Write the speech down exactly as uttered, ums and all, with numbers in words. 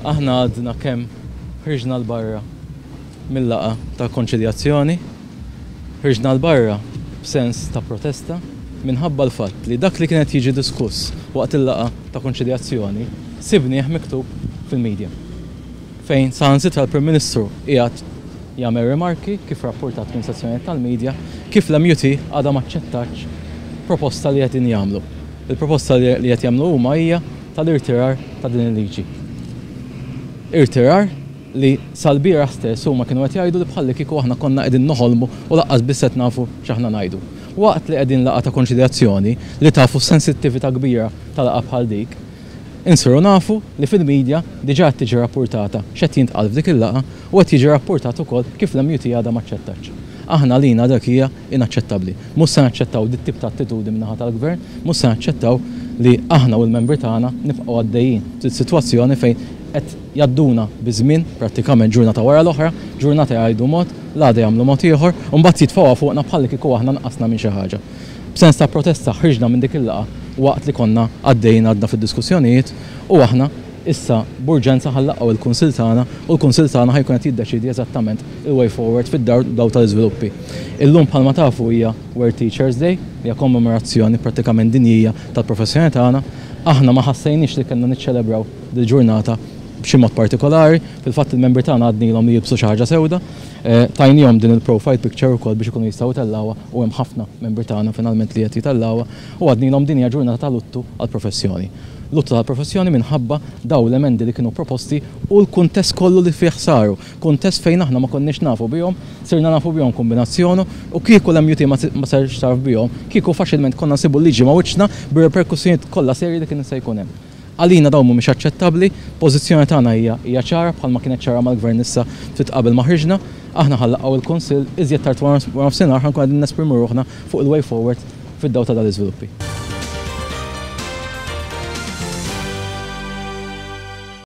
Aħna għadna kemm ħriġna l-barra mill-laqgħa ta' konċiljazzjoni, ħriġna l-barra b'sens ta' protesta minħabba l-fatt li dak li kienet jiġi diskuss waqt il-laqgħa ta' konċiljazzjoni sibnieh miktub fil-medja. Fejn saħansitra l-Prim Ministru qiegħed jagħmel rimarki kif rapportat minn sezzjonijiet tal-medja kif l-M U T għadha m'aċċettatx proposta li qed jagħmlu. Il-proposta li qed jagħmlu huma hija tal-irtirar ta' din il-liġi. Irtirar li sal-bieraħ stess huma kienu qed jgħidu li bħalli kieku aħna konna qegħdin noħolmu u lanqas biss qed nafu x'aħna ngħidu. Waqt li qegħdin laqgħa ta' konċiljazzjoni, li tafu sensittività kbira ta' laqgħa bħal dik, insiru nafu li fil-medja diġà qed tiġi rapportata x'qed jintqal f'dik il-laqgħa u qed jiġi rapportat ukoll kif l-M U T għadha m'aċċettatx. Aħna lina dak hija inaċċettabbli. Mhux se naċċettaw dit tip ta' attitudni min-naħa tal-gvern, mhux se naċċettaw li aħna u l-membri tagħna nibqgħu għaddejjin sitwazzjoni fejn qed jgħadduna biż-żmien prattikament ġurnata wara l-oħra, ġurnata jgħidu mod, l-għada jagħmlu mod ieħor, u mbagħad jitfgħuha fuqna bħalli kieku aħna nqasna minn xi ħaġa. B'sens ta' protesta ħriġna minn dik il-laqgħa waqt li konna għaddejjin għadna fid-diskussjonijiet u aħna issa b'urġenza ħa nlaqqgħu il-kunsill tagħna u l-kunsill tagħna ħa jkun qed jiddeċidi eżattament il-way forward fid-dawl tal-iżviluppi. Illum, bħalma tafu, hija World Teachers Day, hija kommemorazzjoni prattikament dinjija tal-professjoni tagħna. Aħna ma ħassejniex li kellna niċċelebraw dil-ġurnata b'xi mod partikolari, fil-fatt il-membri tagħna għednielhom li jilbsu xi ħaġa sewda, eh, tajnihom din il-profile picture ukoll biex ikunu jistgħu jtellgħuha u hemm ħafna membri tagħna finalment li qed jitellgħuha u għednielhom din hija ġurnata ta' luttu għall-professjoni. Luttu tal-professjoni minħabba daw l-emendi li kienu proposti u l-kuntest kollu li fih saru. Kuntest fejn aħna ma konniex nafu bihom, sirna nafu bihom kombinazzjoni u kieku l-M U T ma sarx taf bihom, kieku faċilment konna nsibu liġi ma' wiċċna bir-reperkussjonijiet kollha serji li kien se jkun hemm. Għalina dawn mhumiex aċċettabbli, pożizzjoni tagħna hija hija ċara bħalma kienet ċara mal-gvern issa ftit qabel ma ħriġna. Aħna ħa nlaqqgħu il-kunsill iżjed tard wara nofsinhar, ħa nkun qegħdin nesprimu ruħna fuq il-way forward fid-dawl ta' dal-iżviluppi.